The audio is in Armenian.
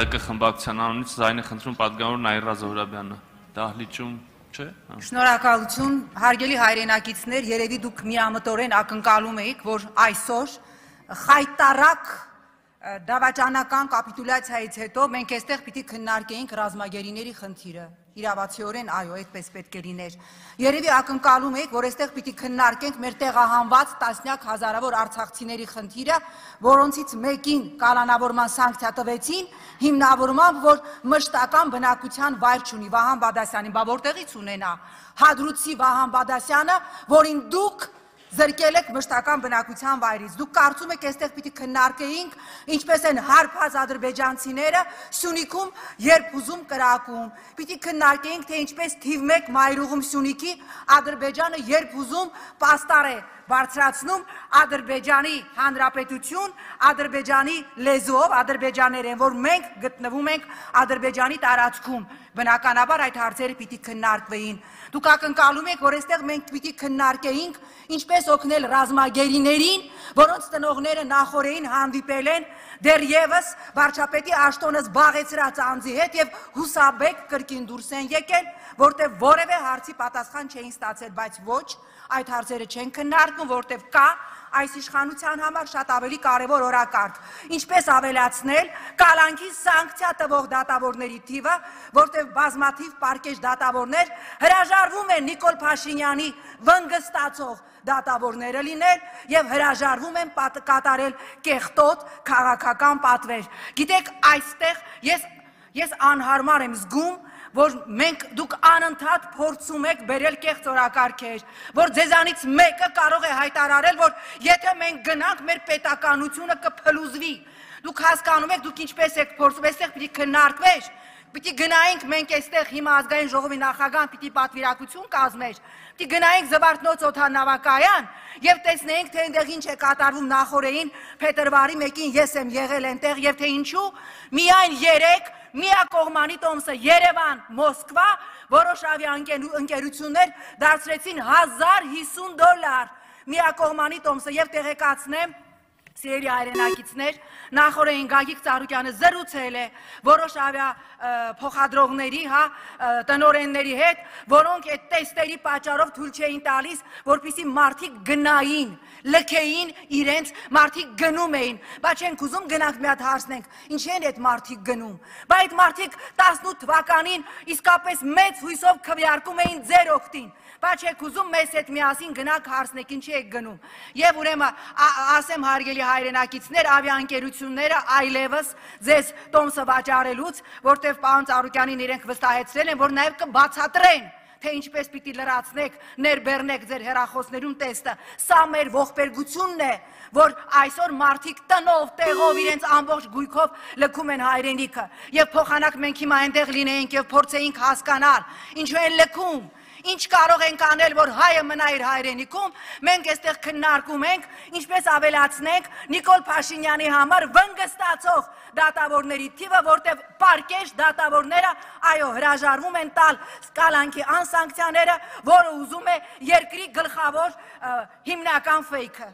ՀՀԿ խմբակցության անունից զայնը խնդրում պատգամավոր Նաիրա Զոհրաբյանը, դահլիճում չէ։ Շնորհակալություն, հարգելի հայրենակիցներ, երևի դուք միամտորեն ակնկալում եք, որ այսօր խայտարակ դավաճանական կապիտուլյացիայից հետո մենք այստեղ պիտի քննարկեինք ռազմագերիների խնդիրը։ Իրավացիորեն այո, այդպես պետք է լիներ։ Երևի ակնկալում եք, որ այստեղ պիտի քննարկենք մեր տեղահանված տասնյակ հազարավոր արցախցիների խնդիրը, որոնցից մեկին կալանավորման սանկցիա տվեցին, հիմնավորմամբ, որ մշտական բնակության վայր չունի Վահան Բադասյանին, բա որտեղից ունենա Հադրութի Վահան Բադասյանը, որին դուք զրկել եք մշտական բնակության վայրից։ Դուք կարծում եք այստեղ պիտի քննարկեինք, ինչպես են հարբած ադրբեջանցիները Սյունիքում երբ ուզում կրակում։ Պիտի քննարկեինք, թե ինչպես թիվ 1 մայրուղում Սյունիքի Ադրբեջանը երբ ուզում պաստառ է բարձրացնում Ադրբեջանի Հանրապետություն, Ադրբեջանի լեզուով, ադրբեջաներեն, որ մենք գտնվում ենք Ադրբեջանի տարածքում։ Բնականաբար այդ հարցերը պիտի քննարկվեին։ Դուք ակնկալում եք, որ այստեղ մենք պիտի քննարկեինք, ինչպես օգնել ռազմագերիներին, որոնց տնողները նախորդին հանդիպել են դեռևս վարչապետի Աշտոնը զբաղեցրած անձի հետ եւ հուսաբեկ կրկին դուրս են եկել, որտեղ որևէ հարցի պատասխան չէին ստացել, բայց ոչ, այդ հարցերը չեն քննարկվում, որտեղ կա այս իշխանության համար շատ ավելի կարևոր օրակարգ, ինչպես ավելացնել կալանքի սանկցիա տվող դատավորների թիվը, որտեղ բազմաթիվ պարկեշ դատավորներ հրաժարվում են Նիկոլ Փաշինյանի վնգստացող դատավորները լինել եւ հրաժարվում են կատարել կեղտոտ քաղաքական պատվեր։ Գիտեք, այստեղ ես անհարմար եմ զգում, որ դուք անընդհատ փորձում եք բերել կեղծ օրակարգեր, որ ձեզանից մեկը կարող է հայտարարել, որ եթե մենք գնանք, մեր պետականությունը կփլուզվի։ Դուք հասկանում եք, դուք ինչպես եք փորձում, այստեղ պիտի քննարկվեր, պիտի գնայինք մենք այստեղ հիմա ազգային ժողովի նախագահան պիտի պատվիրակություն կազմեր, պիտի գնայինք Զվարթնոց օդանավակայան եւ տեսնեինք, թե այնտեղ ինչ է կատարվում նախորդին փետրվարի 1-ին ես եմ եղել այնտեղ եւ թե ինչու միայն 3 միակողմանի տոմսը Երևան, Մոսկվա, որոշ ավիաընկերություններ դարձրեցին $1050 միակողմանի տոմսը եւ տեղեկացնեմ Սիրելի հայրենակիցներ, նախորդին Գագիկ Ծառուկյանը զրուցել է որոշ ավիափոխադրողների, տնօրենների հետ, որոնք այդ տեստերի պատճառով թույլ չէին տալիս, որպեսզի մարդիկ գնային, լքեին իրենց, մարդիկ գնում էին, բայց չենք ուզում գնանք մի հատ հարցնենք, ինչ են այդ մարդիկ գնում, բայց այդ մարդիկ 18 թվականին իսկապես մեծ հույսով քվեարկում էին ձեր օգտին, բայց չեք ուզում մեզ հետ միասին գնանք հարցնենք, ինչի եք գնում, եւ ուրեմն ասեմ հարգելի հայրենակիցներ, ավիաընկերությունները այլևս ձեզ տոմսը վաճառելուց, որտեղ պարոն Ծառուկյանին իրենք վստահեցրել են, որ նաև կբացատրեն, թե ինչպես պիտի լրացնեք, ներբեռնեք ձեր հեռախոսներում տեստը։ Սա մեր ողբերգությունն է, որ այսօր մարդիկ տնով, տեղով իրենց ամբողջ գույքով լքում են հայրենիքը, եւ փոխանակ մենք հիմա այնտեղ լինեինք եւ փորձեինք հասկանալ, ինչու են լքում։ Ինչ կարող ենք անել, որ հայը մնա իր հայրենիքում, մենք այստեղ քննարկում ենք, ինչպես ավելացնենք Նիկոլ Փաշինյանի համար վնգստացող դատավորների թիվը, որտեղ պարկեշ դատավորները, այո, հրաժարվում են տալ կալանքի անսանկցիաները, որը ուզում է երկրի գլխավոր հիմնական ֆեյքը։